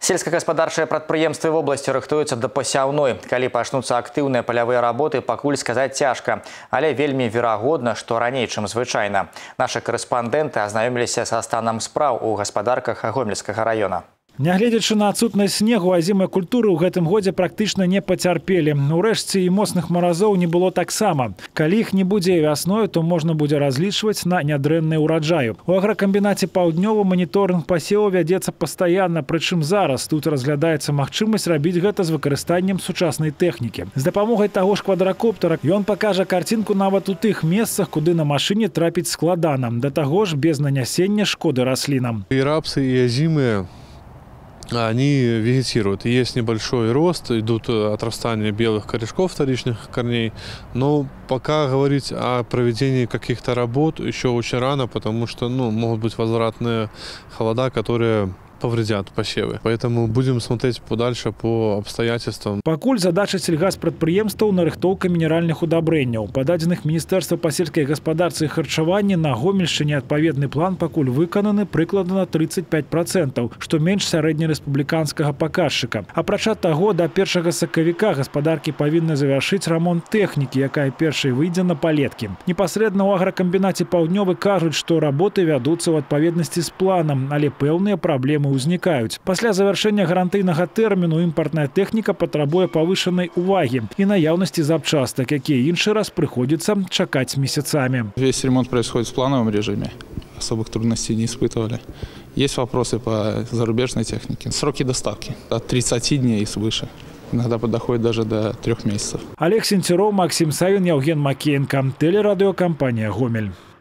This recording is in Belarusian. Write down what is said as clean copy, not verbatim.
Сельскагаспадарчыя прадпрыемствы в области рыхтуюцца да пасяўной. Калі пачнуцца актыўныя палявыя работы, пакуль сказаць цяжка. Але вельмі верагодна, што раней, чым звычайна. Нашы корэспандэнты азнаёміліся са станам спраў у гаспадарках Гомельскага района. Нягледзячы на адсутнасць снегу, азімыя культуры ў гэтым годзе практычна не пацярпелі. Урэшце і моцных маразоў не было таксама. Калі іх не будзе вясною, то можна будзе разлічваць на нядрэнныя ўраджаю. У агракамбінаце «Паўднёвы» маніторынг пасеву вядзецца пастаянна, прычым зараз тут разглядаецца магчымасць рабіць гэта з выкарыстаннем сучаснай тэхнікі. З дапамогай таго ж квадракоптера ён пакажа карцінку нават у тых месцах, куды на машыне трапіць складана. Да таго ж без нанясення шкоды раслінам. И рапсы, и озимые, они вегетируют. Есть небольшой рост, идут отрастания белых корешков вторичных корней. Но пока говорить о проведении каких-то работ еще очень рано, потому что могут быть возвратные холода, которые повредят посевы. Поэтому будем смотреть подальше по обстоятельствам. Пакуль задача сельгаспрадпрыемстваў нарыхтоўка мінеральных удабрэнняў. Па дадзеных Міністэрства па сельскай гаспадарцы і харчаванні на Гомельшчыне адпаведны план пакуль выкананы прыкладна на 35%, што менш сярэднерэспубліканскага паказчыка. Апрача таго, да 1 сакавіка гаспадаркі павінны завяршыць рамонт тэхнікі, якая першай выйдзе на палеткі. Непасрэдна ў агракамбінаце «Паўднёвы» кажуць, што работы вядуцца ў адпаведнасці з планам, але пэўныя праблемы узнікаюць. Пасля завяршэння гарантыйнага тэрміну імпартная тэхніка патрабуе павышанай увагі і наяўнасці запчастак, якія іншы раз прыходзіцца чакаць месяцамі. Весь ремонт происходит в плановом режиме. Особых трудностей не испытывали. Есть вопросы по зарубежной технике. Сроки доставки от 30 дней и свыше. Иногда доходит даже до 3 месяцев. Олег Сенцеров, Максим Савин, Евген Макеенко. Телерадиокомпания «Гомель».